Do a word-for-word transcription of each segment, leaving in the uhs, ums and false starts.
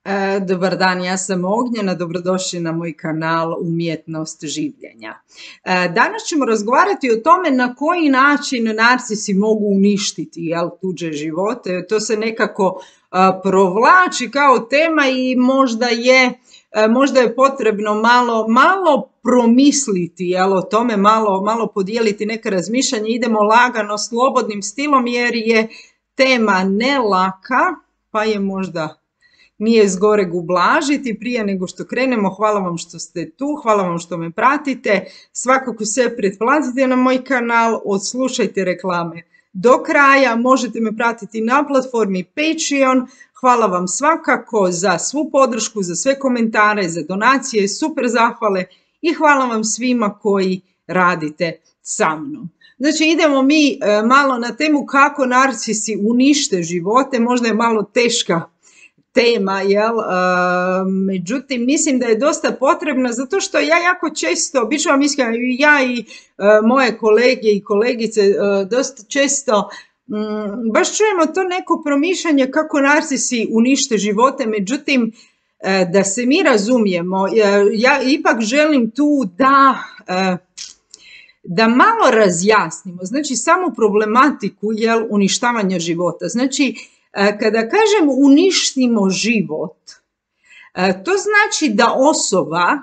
E, Dobar dan, ja sam Ognjena, dobrodošli na moj kanal Umjetnost življenja. E, Danas ćemo razgovarati o tome na koji način narcisi mogu uništiti, jel, tuđe živote. To se nekako a, provlači kao tema i možda je, a, možda je potrebno malo, malo promisliti, jel, o tome, malo, malo podijeliti neka razmišljanja. Idemo lagano, slobodnim stilom jer je tema ne laka, pa je možda nije zgoreg ublažiti. Prije nego što krenemo, hvala vam što ste tu, hvala vam što me pratite. Svakako se pretplatite na moj kanal, odslušajte reklame do kraja, možete me pratiti na platformi Patreon. Hvala vam svakako za svu podršku, za sve komentare, za donacije, super zahvale i hvala vam svima koji radite sa mnom. Znači idemo mi e, malo na temu kako narcisi unište živote, možda je malo teška tema, jel? Uh, međutim, mislim da je dosta potrebna zato što ja jako često, bit ću vam iskrena, ja i uh, moje kolege i kolegice uh, dosta često um, baš čujemo to neko promišljanje kako narcisi unište živote, međutim, uh, da se mi razumijemo, uh, ja ipak želim tu da... Uh, da malo razjasnimo, znači samu problematiku, jel, uništavanja života. Znači, kada kažem uništimo život, to znači da osoba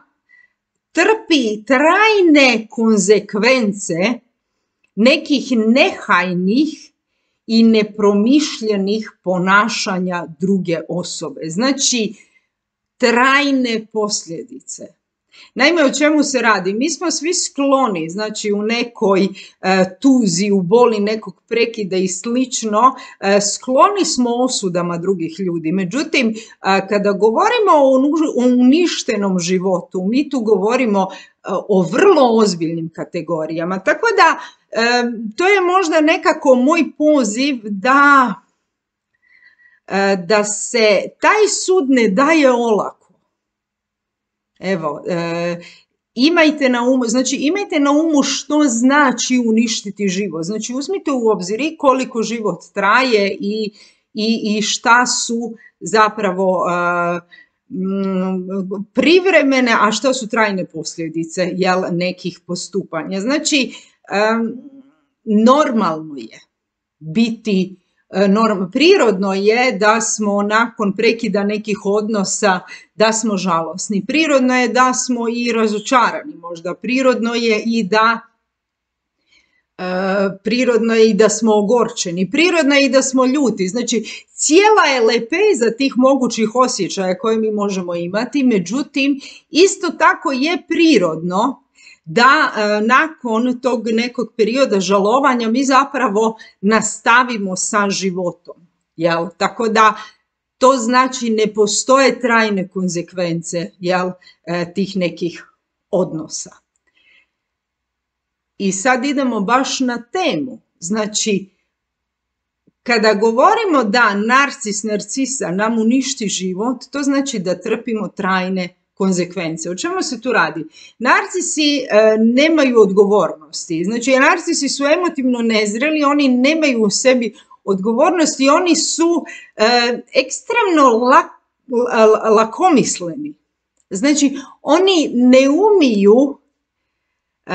trpi trajne konzekvence nekih nehajnih i nepromišljenih ponašanja druge osobe. Znači, trajne posljedice. Naime, o čemu se radi? Mi smo svi skloni, znači u nekoj e, tuzi, u boli nekog prekida i slično, e, skloni smo osudama drugih ljudi. Međutim, e, kada govorimo o, o uništenom životu, mi tu govorimo e, o vrlo ozbiljnim kategorijama. Tako da, e, to je možda nekako moj poziv da, e, da se taj sud ne daje olako. Evo, e, imajte na umu, znači imajte na umu što znači uništiti život. Znači uzmite u obzir i koliko život traje i, i, i šta su zapravo e, m, privremene, a šta su trajne posljedice, jel, nekih postupanja. Znači, e, normalno je biti Norm, prirodno je da smo nakon prekida nekih odnosa, da smo žalosni. Prirodno je da smo i razočarani možda. Prirodno je i da e, prirodno je i da smo ogorčeni. Prirodno je i da smo ljuti. Znači, cijela je lepeza tih mogućih osjećaja koje mi možemo imati. Međutim, isto tako je prirodno da e, nakon tog nekog perioda žalovanja mi zapravo nastavimo sa životom. Jel? Tako da to znači ne postoje trajne konzekvence, jel, e, tih nekih odnosa. I sad idemo baš na temu. Znači, kada govorimo da narcis, narcisa nam uništi život, to znači da trpimo trajne konzekvence. O čemu se tu radi? Narcisi e, nemaju odgovornosti. Znači, narcisi su emotivno nezreli, oni nemaju u sebi odgovornosti, oni su e, ekstremno lak, lakomisleni. Znači, oni ne umiju, e,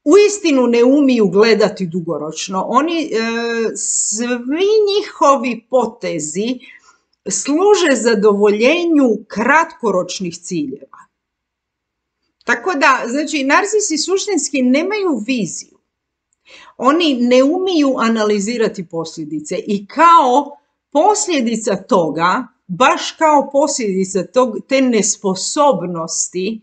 uistinu ne umiju gledati dugoročno. Oni, e, svi njihovi potezi služe zadovoljenju kratkoročnih ciljeva. Tako da, znači, narcisi suštinski nemaju viziju. Oni ne umiju analizirati posljedice i kao posljedica toga, baš kao posljedica tog, te nesposobnosti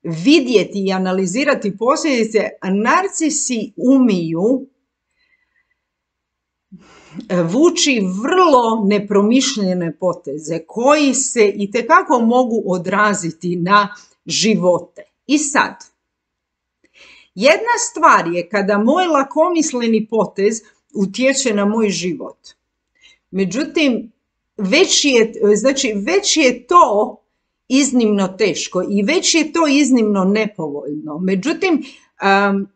vidjeti i analizirati posljedice, narcisi umiju vuči vrlo nepromišljene poteze koji se itekako mogu odraziti na živote. I sad, jedna stvar je kada moj lakomisleni potez utječe na moj život. Međutim, već je, znači, već je to iznimno teško i već je to iznimno nepovoljno. Međutim, um,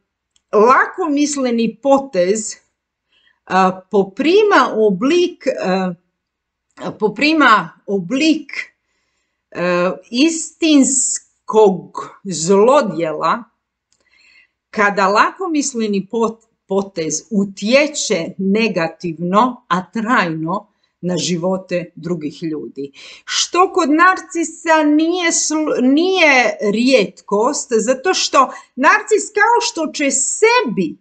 lakomisleni potez poprima oblik poprima oblik uh, istinskog zlodjela kada lakomisleni potez utječe negativno, a trajno na živote drugih ljudi. Što kod narcisa nije, nije rijetkost, zato što narcis kao što će sebi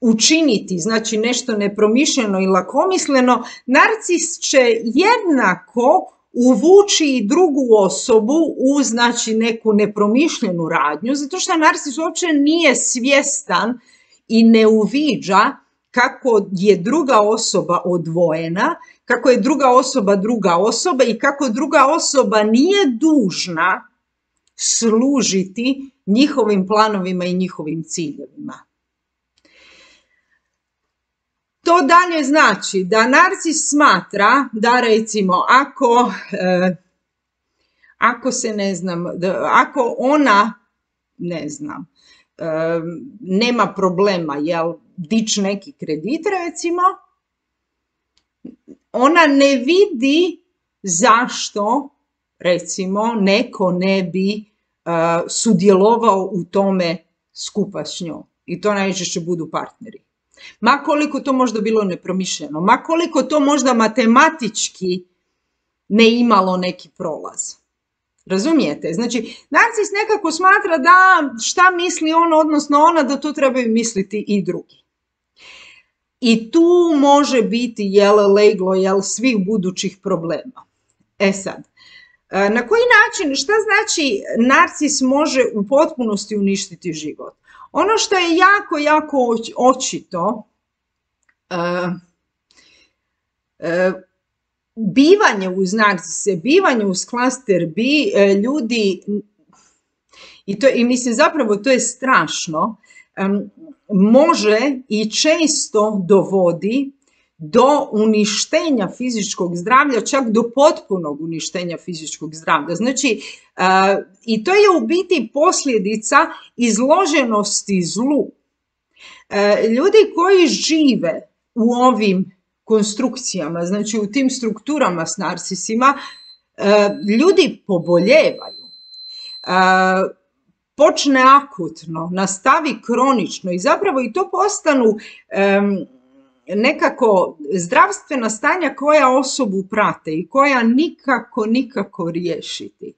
učiniti, znači nešto nepromišljeno i lakomisleno, narcis će jednako uvući i drugu osobu u znači neku nepromišljenu radnju, zato što narcis uopće nije svjestan i ne uviđa kako je druga osoba odvojena, kako je druga osoba druga osoba i kako druga osoba nije dužna služiti njihovim planovima i njihovim ciljevima. To dalje znači da narcis smatra da recimo ako, eh, ako se ne znam, da, ako ona, ne znam, eh, nema problema, jel, dići neki kredit recimo, ona ne vidi zašto recimo neko ne bi uh, sudjelovao u tome skupa s njom. I to najčešće budu partneri. Ma koliko to možda bilo nepromišljeno, ma koliko to možda matematički ne imalo neki prolaz. Razumijete? Znači, narcis nekako smatra da šta misli on, odnosno ona, da to trebaju misliti i drugi. I tu može biti, jel, leglo, jel, svih budućih problema. E sad, na koji način, šta znači narcis može u potpunosti uništiti život? Ono što je jako, jako očito, uh, uh, bivanje uz narcise, bivanje uz klaster B, uh, ljudi, i, to, i mislim zapravo to je strašno, um, može i često dovodi do uništenja fizičkog zdravlja, čak do potpunog uništenja fizičkog zdravlja. Znači, uh, i to je u biti posljedica izloženosti zlu. Uh, ljudi koji žive u ovim konstrukcijama, znači u tim strukturama s narcisima, uh, ljudi poboljevaju. Uh, počne akutno, nastavi kronično i zapravo i to postanu um, nekako zdravstvena stanja koja osobu prate i koja nikako, nikako riješiti.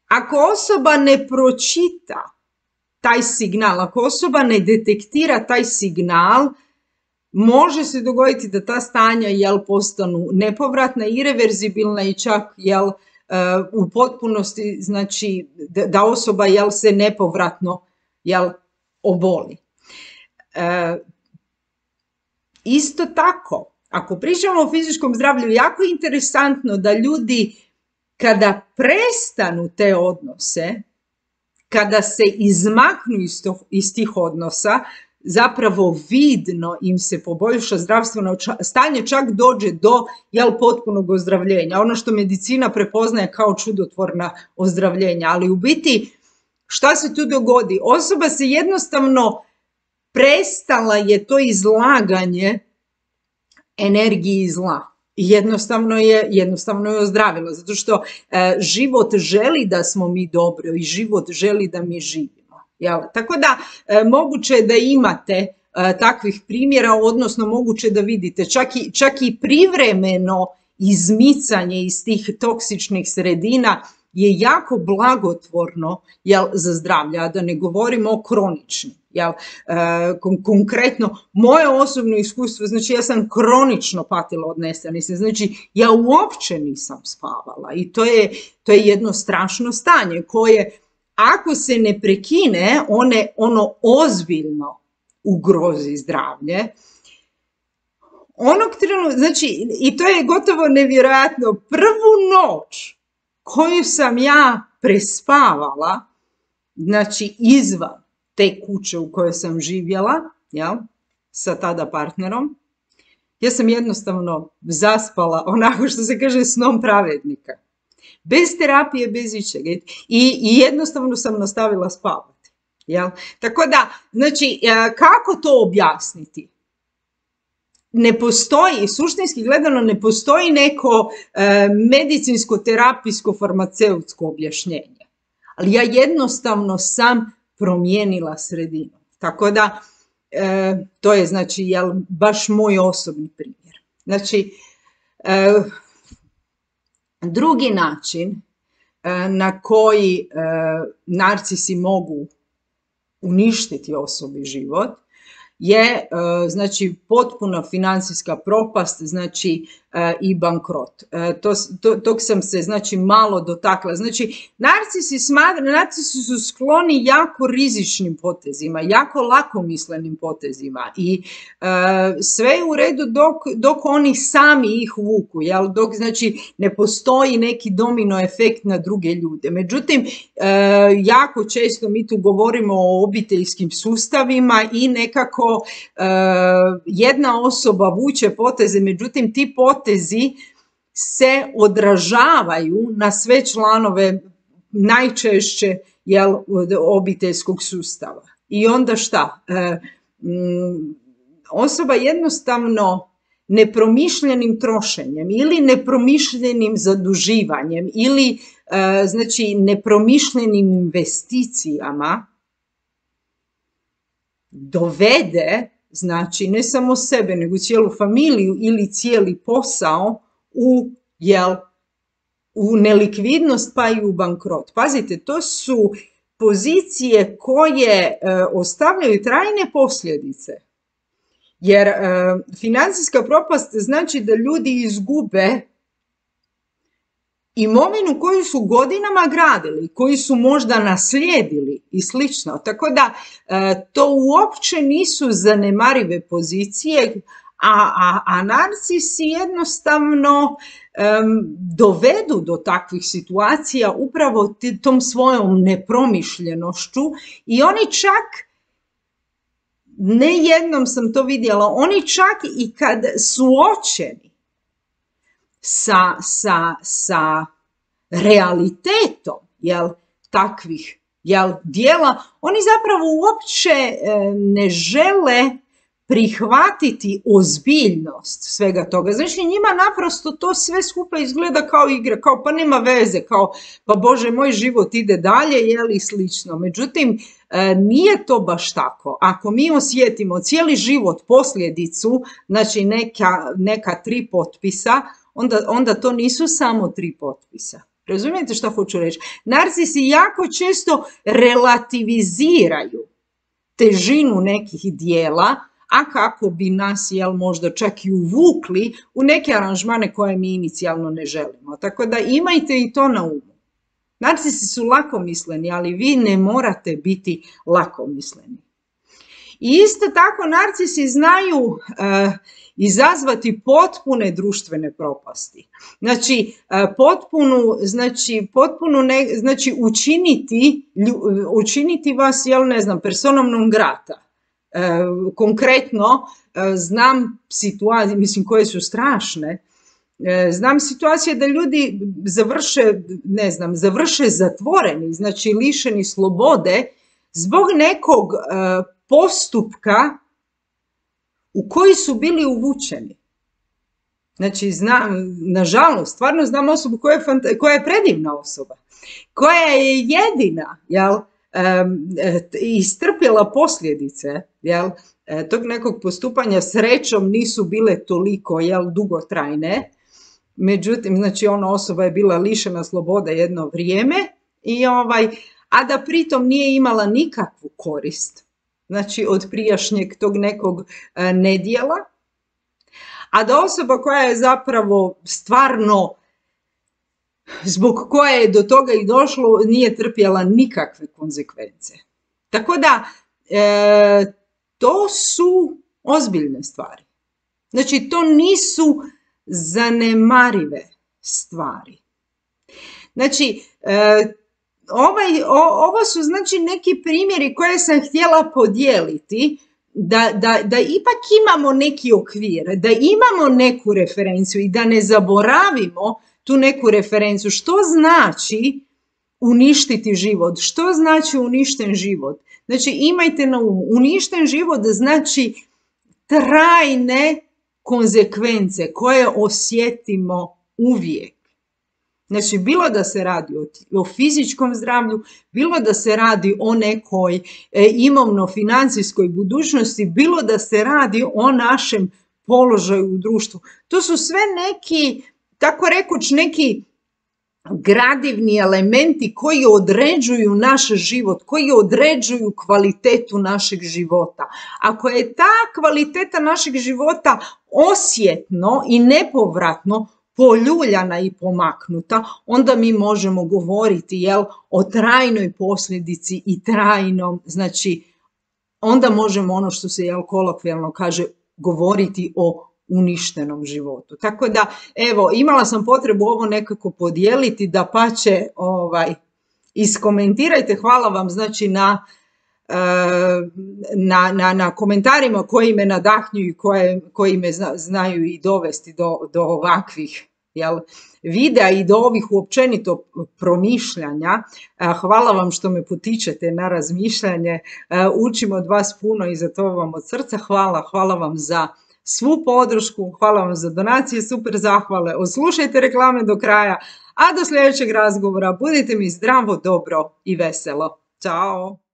Ako osoba ne pročita taj signal, ako osoba ne detektira taj signal, može se dogoditi da ta stanja, jel, postanu nepovratna, ireverzibilna i čak, jel, u potpunosti, znači da osoba, jel, se nepovratno, jel, oboli. E, isto tako, ako pričamo o fizičkom zdravlju, jako je interesantno da ljudi kada prestanu te odnose, kada se izmaknu iz, to, iz tih odnosa, zapravo vidno im se poboljša zdravstveno stanje, čak dođe do, jel, potpunog ozdravljenja. Ono što medicina prepoznaje kao čudotvorna ozdravljenja, ali u biti šta se tu dogodi? Osoba se jednostavno prestala je to izlaganje energiji zla. I jednostavno je, jednostavno je ozdravila, zato što e, život želi da smo mi dobro i život želi da mi živimo. Jel? Tako da e, moguće je da imate e, takvih primjera, odnosno moguće da vidite čak i, čak i privremeno izmicanje iz tih toksičnih sredina je jako blagotvorno, jel, za zdravlje, a da ne govorimo o kroničnim. Jel, e, kon konkretno, moje osobno iskustvo, znači ja sam kronično patila od nesanice, znači ja uopće nisam spavala i to je, to je jedno strašno stanje koje, ako se ne prekine, one, ono ozbiljno ugrozi zdravlje. Onog trenutka, znači, i to je gotovo nevjerojatno, prvu noć koju sam ja prespavala, znači izvan te kuće u kojoj sam živjela, jel, sa tada partnerom, ja sam jednostavno zaspala, onako što se kaže, snom pravednika. Bez terapije, bez ičega. I, i jednostavno sam nastavila spavati. Jel? Tako da, znači, kako to objasniti? ne postoji, suštinski gledano ne postoji neko e, medicinsko-terapijsko farmaceutsko objašnjenje. Ali ja jednostavno sam promijenila sredinu. Tako da, e, to je znači jel, baš moj osobni primjer. Znači, e, drugi način e, na koji e, narcisi mogu uništiti osobi život je znači potpuna financijska propast, znači i bankrot. To, to, tog sam se znači malo dotakla. Znači narcisi, smatra, narcisi su skloni jako rizičnim potezima, jako lakomislenim potezima i e, sve je u redu dok, dok oni sami ih vuku, jel? Dok znači ne postoji neki domino efekt na druge ljude. Međutim, e, jako često mi tu govorimo o obiteljskim sustavima i nekako Uh, jedna osoba vuče poteze, međutim ti potezi se odražavaju na sve članove najčešće jel, obiteljskog sustava. I onda šta? Uh, um, osoba jednostavno nepromišljenim trošenjem ili nepromišljenim zaduživanjem ili uh, znači nepromišljenim investicijama dovede, znači ne samo sebe, nego cijelu familiju ili cijeli posao u, jel, u nelikvidnost pa i u bankrot. Pazite, to su pozicije koje e, ostavljaju trajne posljedice. Jer e, financijska propast znači da ljudi izgube imovinu koju su godinama gradili, koju su možda naslijedili i slično. Tako da e, to uopće nisu zanemarive pozicije, a, a, a narcisi jednostavno e, dovedu do takvih situacija upravo tom svojom nepromišljenošću i oni čak, ne jednom sam to vidjela, oni čak i kad suočeni sa, sa, sa realitetom jel, takvih jel, dijela, oni zapravo uopće e, ne žele prihvatiti ozbiljnost svega toga. Znači njima naprosto to sve skupa izgleda kao igra, kao pa nema veze, kao pa Bože moj život ide dalje jel, i slično. Međutim, e, nije to baš tako. Ako mi osjetimo cijeli život posljedicu, znači neka, neka tri potpisa, Onda, onda to nisu samo tri potpisa. Razumijete što hoću reći? Narcisi jako često relativiziraju težinu nekih dijela, a kako bi nas jel, možda čak i uvukli u neke aranžmane koje mi inicijalno ne želimo. Tako da imajte i to na umu. Narcisi su lakomisleni, ali vi ne morate biti lakomisleni. I isto tako narcisi znaju uh, izazvati potpune društvene propasti. Znači, uh, potpunu, znači, potpunu ne, znači učiniti, učiniti vas, jel ne znam, personom non grata. Uh, konkretno, uh, znam situacije, mislim, koje su strašne. Uh, znam situacije da ljudi završe, ne znam, završe zatvoreni, znači lišeni slobode zbog nekog uh, postupka u koji su bili uvučeni. Znači, znam, nažalost, stvarno znam osobu koja je, koja je predivna osoba, koja je jedina, jel, um, istrpjela posljedice, jel, tog nekog postupanja. Srećom nisu bile toliko, jel, dugotrajne, međutim, znači, ona osoba je bila lišena slobode jedno vrijeme, i ovaj, a da pritom nije imala nikakvu korist, znači od prijašnjeg tog nekog e, nedjela, a da osoba koja je zapravo stvarno, zbog koje je do toga i došlo, nije trpjela nikakve konzekvence. Tako da, e, to su ozbiljne stvari. Znači, to nisu zanemarive stvari. Znači, e, Ovaj, o, ovo su znači neki primjeri koje sam htjela podijeliti, da, da, da ipak imamo neki okvir, da imamo neku referenciju i da ne zaboravimo tu neku referenciju. Što znači uništiti život? Što znači uništen život? Znači imajte na umu, uništen život znači trajne konzekvence koje osjetimo uvijek. Znači, bilo da se radi o, o fizičkom zdravlju, bilo da se radi o nekoj e, imovno-financijskoj budućnosti, bilo da se radi o našem položaju u društvu. To su sve neki, tako rekuć, neki gradivni elementi koji određuju naš život, koji određuju kvalitetu našeg života. Ako je ta kvaliteta našeg života osjetno i nepovratno poljuljana i pomaknuta, onda mi možemo govoriti, jel, o trajnoj posljedici i trajnom, znači, onda možemo ono što se, jel, kolokvijalno kaže, govoriti o uništenom životu. Tako da, evo, imala sam potrebu ovo nekako podijeliti, da pače, ovaj, iskomentirajte, hvala vam, znači, na, na, na, na komentarima koji me nadahnjuju i koje, koji me zna, znaju i dovesti do, do ovakvih, jel, videa i do ovih uopćenito promišljanja. Hvala vam što me potičete na razmišljanje, učim od vas puno i za to vam od srca hvala, hvala vam za svu podršku, hvala vam za donacije, super zahvale, odslušajte reklame do kraja, a do sljedećeg razgovora budite mi zdravo, dobro i veselo. Ćao!